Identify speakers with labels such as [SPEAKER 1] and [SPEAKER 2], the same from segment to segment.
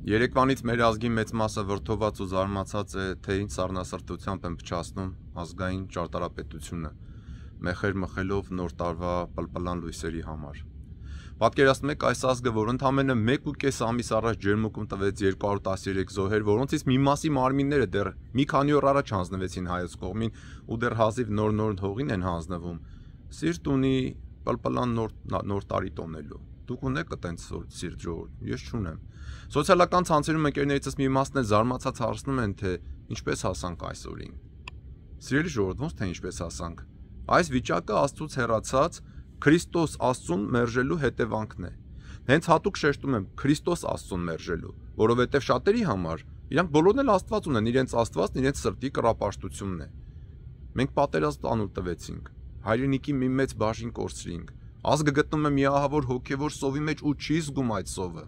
[SPEAKER 1] Երեկվանից մեր ազգի մեծ մասը վրդոված ու զարմացած է, թե ինչ սառնասրտությամբ են փչացնում ազգային ճարտարապետությունը, մեխեր մխելով նոր տարվա պլպլան լույսերի համար։ Պատկերացնում եք այս ազգը, որ ընդամենը 1.5 ամիս առաջ ջերմուկում տվեց 213 զոհեր, որոնցից մի մասի մարմինները դեռ մի քանի օր առաջ հանձնվեցին հայոց կողմին ու դեռ հազիվ նոր հողին են հանձնվում։ Սիրտ ունի պլպլան նոր տարի տոնելու։ Դուք ունեք այտենց սիրտ ժողովուրդ, ես չունեմ։ Սոցիալական ցանցերում ընկերներիցս մի մասն էլ զարմացած հարցնում են, թե ինչպես հասանք այս օրին։ Սիրելի ժողովուրդ, ոնց թե ինչպես հասանք։ Այս վիճակը Աստծուց հեռացած Քրիստոս Աստծուն մերժելու հետևանքն է։ Հենց հատուկ շեշտում եմ Քրիստոս Աստծուն մերժելու, որովհետև շատերի համար իրանք բոլորն էլ Աստված ունեն, իրենց Աստվածն իրենց սրտի կռապաշտությունն է։ Մենք պատերազմ անուլ տվեցինք, հայրենիքի մի մեծ բաժին կորցրինք, ազգը գտնում է միահավոր հոգևոր սովի մեջ ու չի զգում այդ սովը։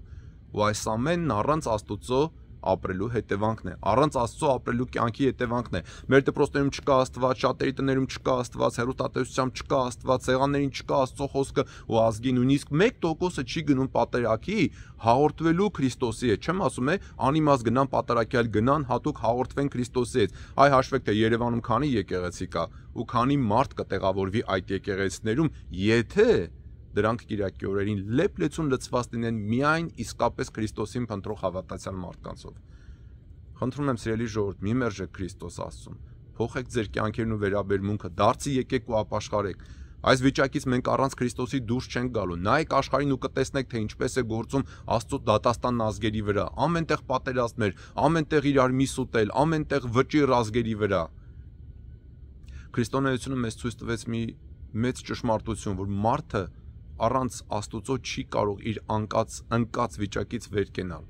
[SPEAKER 1] Ու այս ամենն առանց Աստծո ապրելու հետևանքն է, առանց Աստծո ապրելու կյանքի հետևանքն է։ Մեր դպրոցներում չկա Աստված, շատերի տներում չկա Աստված, հեռուստատեսությամբ չկա Աստված, սեղաններին չկա Աստծո խոսքը ու ազգի նույնիսկ 1%-ը չի գնում պատերակի հաղորդվելու Քրիստոսի հետ։ Չեմ ասում է անիմաց գնան պատերակի, այլ գնան հատուկ հաղորդվեն Քրիստոսի հետ։ Այ հաշվեք, թե Երևանում քանի եկեղեցի կա ու քանի մարդ կտեղավորվի այդ եկեղեցիներում, եթե դրանք Կիրակի օրերին լեփ-լեցուն լցված լինեն միայն իսկապես Քրիստոսին փնտրող հավատացյալ մարդկանցով։ Խնդրում եմ սիրելի ժողովուրդ, մի մերժեք Քրիստոս Աստծուն, փոխեք ձեր կյանքերն ու վերաբերմունքը, դարձի եկեք ու ապաշխարեք։ Այս վիճակից մենք առանց Քրիստոսի դուրս չենք գալու։ Նայեք աշխարհին ու կտեսնեք, թե ինչպես է գործում Աստծո դատաստանն ազգերի վրա։ Ամենտեղ պատերազմներ, ամենտեղ իրար միս ուտել, ամենտեղ վճիռ ազգերի վրա։ Քրիստոնեությունը մեզ ցույց տվեց մի մեծ ճշմարտություն, որ մարդը առանց Աստուծո չի կարող իր ընկած վիճակից վեր կենալ։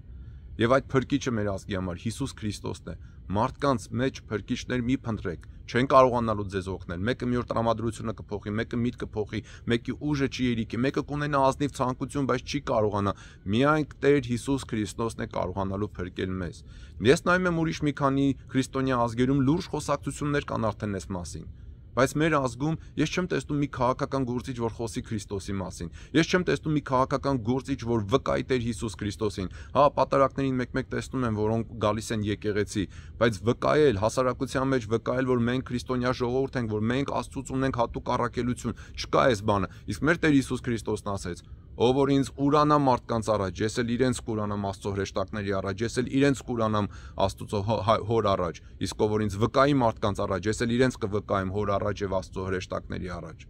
[SPEAKER 1] Եվ այդ փրկիչը մեր ազգի համար Հիսուս Քրիստոսն է։ Մարդկանց մեջ փրկիչներ մի փնտրեք, չեն կարողանալու ձեզ օգնել։ Մեկը մի օր տրամադրությունը կփոխի, մեկը միտքը փոխի, մեկի ուժը չի երիկի, մեկը կունենա ազնիվ ցանկություն, բայց չի կարողանա։ Միայն Տեր Հիսուս Քրիստոսն է կարողանալու փրկել մեզ։ Ես նայում եմ ուրիշ մի քանի քրիստոնյա ազգերում լուրջ խոսակցություններ կան արդեն այս մասին։ Բայց մեր ազգում ես չեմ տեսնում մի քաղաքական գործիչ, որ խոսի Քրիստոսի մասին։ Ես չեմ տեսնում մի քաղաքական գործիչ, որ վկայի Տեր Հիսուս Քրիստոսին։ Հա, պատարակներին մեկ-մեկ տեսնում եմ, որոնք գալիս են եկեղեցի, բայց վկայել, հասարակության մեջ վկայել, որ մենք քրիստոնյա ժողովուրդ ենք, որ մենք Աստծուց ունենք հատուկ առաքելություն, չկա այս բանը։ Իսկ մեր Տեր Հիսուս Քրիստոսն ասեց. ով որ ինձ ուրանա մարդկանց առաջ, ես էլ իրենց կուրանամ Աստծո հրեշտակների առաջ, ես էլ իրենց կուրանամ Աստծո հոր առաջ, իսկ ով որ ինձ վկայի մարդկանց առաջ, ես էլ իրենց կվկայեմ հոր առաջ եւ Աստծո հրեշտակների առաջ։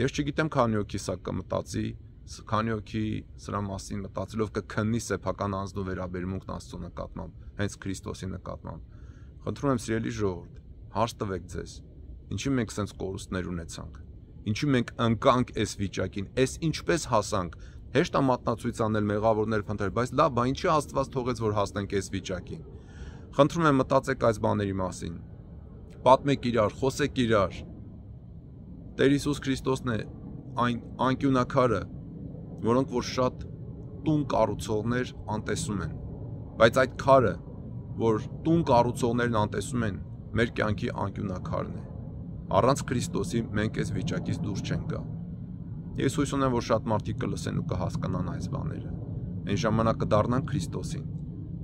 [SPEAKER 1] Ես չգիտեմ քանի հոգի սա կմտածի, քանի հոգի սրա մասին մտածելով կքննի սեփական անձնու վերաբերմունքն Աստծո նկատմամբ, հենց Քրիստոսի նկատմամբ։ Խնդրում եմ սիրելի ժողովուրդ, հարց տվեք ձեզ, ինչի մենք սենց կորուստներ ունեցանք։ Ինչու մենք ընկանք այս վիճակին, այս ինչպես հասանք, հեշտ է մատնացույց անել, մեղավորներ փնտրել, բայց լավ, բա ինչի Աստված թողեց, որ հասնենք այս վիճակին։ Խնդրում եմ մտածեք այս բաների մասին։ Պատմեք իրար, խոսեք իրար։ Տեր Հիսուս Քրիստոսն է այն անկյունակարը, որոնք որ շատ տուն կառուցողներ անտեսում են, բայց այդ քարը, որ տուն կառուցողներն անտեսում են, մեր կյանքի անկյունակարն է։ Առանց Քրիստոսի մենք այս վիճակից դուրս չենք գա։ Ես հույս ունեմ, որ շատ մարդիկ կլսեն ու կհասկանան այս բաները։ Այն ժամանակ կդառնանք Քրիստոսին։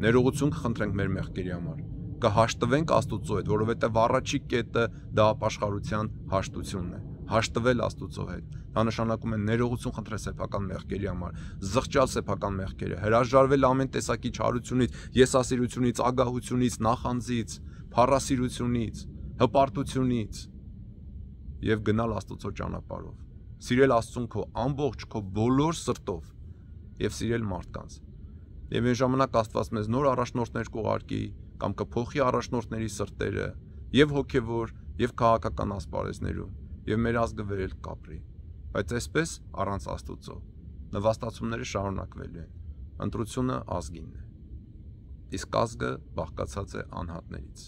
[SPEAKER 1] Ներողություն կխնդրենք մեր մեղքերի համար։ Կհաշտվենք Աստուծո հետ, որովհետև առաջի կետը դա ապաշխարության հաշտությունն է։ Հաշտվել Աստուծո հետ։ Դա նշանակում է ներողություն խնդրել սեփական մեղքերի համար, զղջալ սեփական մեղքերը, հրաժարվել ամեն տեսակի չարությունից, եսասիրությունից, ագահությունից, նախանձից, փառասիրությունից, հպարտությունից եւ գնալ Աստծո ճանապարհով։ Սիրել Աստծուն քո ամբողջ քո բոլոր սրտով եւ սիրել մարդկանց։ Եվ այն ժամանակ Աստված մեզ նոր առաջնորդներ կուղարկի կամ կփոխի առաջնորդների սրտերը եւ հոգեվոր եւ քաղաքական ասպարեզներում եւ մեր ազգը վերել կապրի։ Բայց այսպես առանց Աստծո նվաստացումները շարունակվելու են։ Ընտրությունը ազգինն է։ Իսկ ազգը բաղկացած է անհատներից։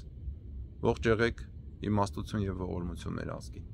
[SPEAKER 1] Ողջ եղեք, իմաստություն եւ ողորմություն մեր ազգին։